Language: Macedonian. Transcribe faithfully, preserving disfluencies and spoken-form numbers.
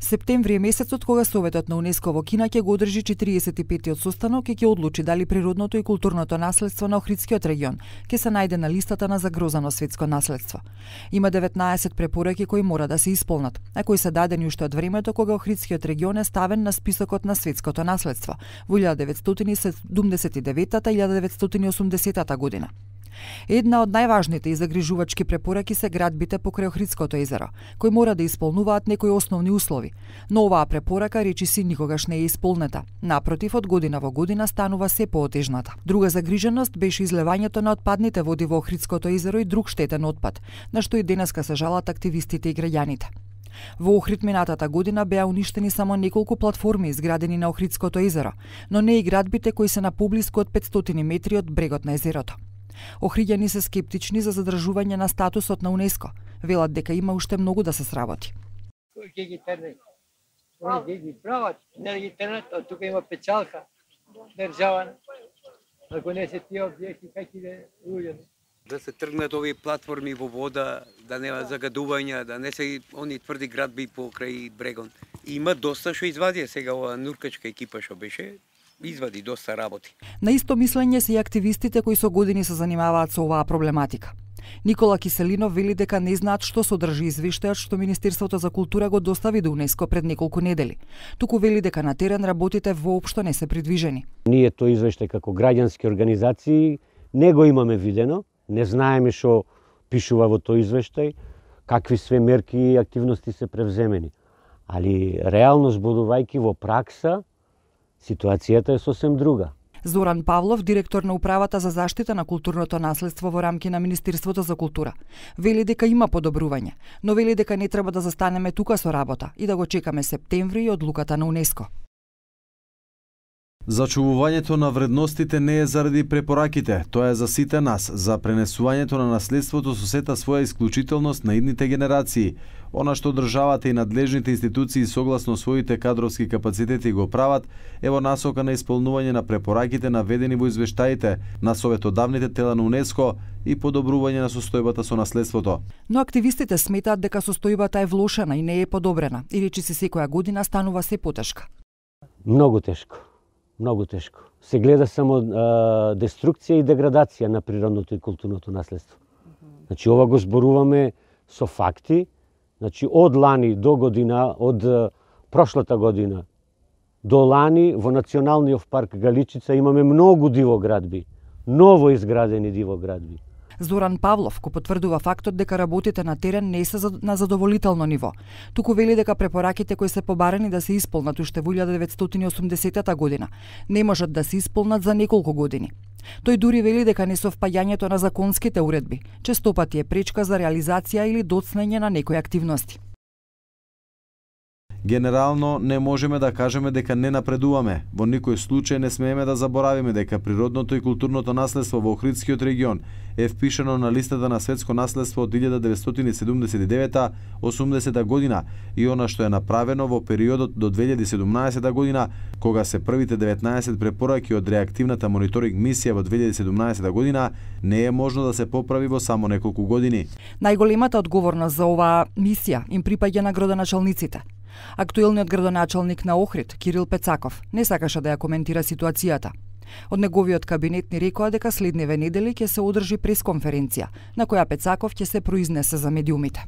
Септември е месецот кога Советот на УНЕСКО во Кина ќе го одржи четириесет и петтиот состанок и ќе одлучи дали природното и културното наследство на Охридскиот регион ќе се најде на листата на загрозано светско наследство. Има деветнаесет препораки кои мора да се исполнат, а кои се дадени уште од времето кога Охридскиот регион е ставен на списокот на светското наследство во илјада деветстотини и седумдесет и деветата - илјада деветстотини и осумдесетата година. Една од најважните и загрижувачки препораки се градбите покрај Охридското езеро, кои мора да исполнуваат некои основни услови, но оваа препорака речиси никогаш не е исполнета. Напротив, од година во година станува се поотежната. Друга загриженост беше излевањето на отпадните води во Охридското езеро и друг штетен отпад, на што и денеска се жалат активистите и граѓаните. Во Охрид минатата година беа уништени само неколку платформи изградени на Охридското езеро, но не и градбите кои се на поблиску од петстотини метри од брегот на езерото. Охриѓани се скептични за задржување на статусот на УНЕСКО. Велат дека има уште многу да се сработи. Кој ќе ги терне? Они ќе ги прават, не да ги тернат, од тука има печалка држава. Ако не се тие објекти, как иде луѓе? Да се тргнат овие платформи во вода, да нема загадувања, да не се они тврди градби покрај брегон. Има доста што извадија сега ова нуркачка екипа што беше. Извади доста работи. На исто мислење се и активистите кои со години се занимаваат со оваа проблематика. Никола Киселинов вели дека не знаат што содржи извештајот што Министерството за култура го достави до УНЕСКО пред неколку недели. Туку вели дека на терен работите воопшто не се придвижени. Ние тој извештај како граѓански организации не го имаме видено, не знаеме што пишува во тој извештај, какви све мерки и активности се превземени. Али реално зборувајќи во пракса, ситуацијата е сосем друга. Зоран Павлов, директор на Управата за заштита на културното наследство во рамки на Министерството за култура, вели дека има подобрување, но вели дека не треба да застанеме тука со работа и да го чекаме септември и одлуката на УНЕСКО. Зачувувањето на вредностите не е заради препораките, тоа е за сите нас, за пренесувањето на наследството со сета своја исклучителност на идните генерации. Она што државата и надлежните институции согласно своите кадровски капацитети го прават е во насока на исполнување на препораките наведени во извештаите на советодавните тела на УНЕСКО и подобрување на состојбата со наследството. Но активистите сметаат дека состојбата е влошена и не е подобрена, и речиси секоја година станува се потешка. Многу тешко. Многу тешко. Се гледа само а, деструкција и деградација на природното и културното наследство. Значи ова го зборуваме со факти. Значи од лани до година, од а, прошлата година до лани во Националниот парк Галичица имаме многу дивоградби, ново изградени дивоградби. Зоран Павлов го потврдува фактот дека работите на терен не се на задоволително ниво. Туку вели дека препораките кои се побарани да се исполнат уште во илјада деветстотини и осумдесетата година не можат да се исполнат за неколку години. Тој дури вели дека несовпаѓањето на законските уредби честопати е пречка за реализација или доцнење на некои активности. Генерално не можеме да кажеме дека не напредуваме. Во никој случај не смееме да заборавиме дека природното и културното наследство во Охридскиот регион е впишано на листата на светско наследство од илјада деветстотини и седумдесет и девета до осумдесета година и она што е направено во периодот до две илјади и седумнаесета година, кога се првите деветнаесет препораки од реактивната мониторинг мисија во две илјади и седумнаесета година, не е можно да се поправи во само неколку години. Најголемата одговорност за оваа мисија им припаѓа на градоначалниците. Актуелниот градоначалник на Охрид, Кирил Пецаков, не сакаше да ја коментира ситуацијата. Од неговиот кабинет ни рекоа дека следниве недели ќе се одржи пресконференција, на која Пецаков ќе се произнесе за медиумите.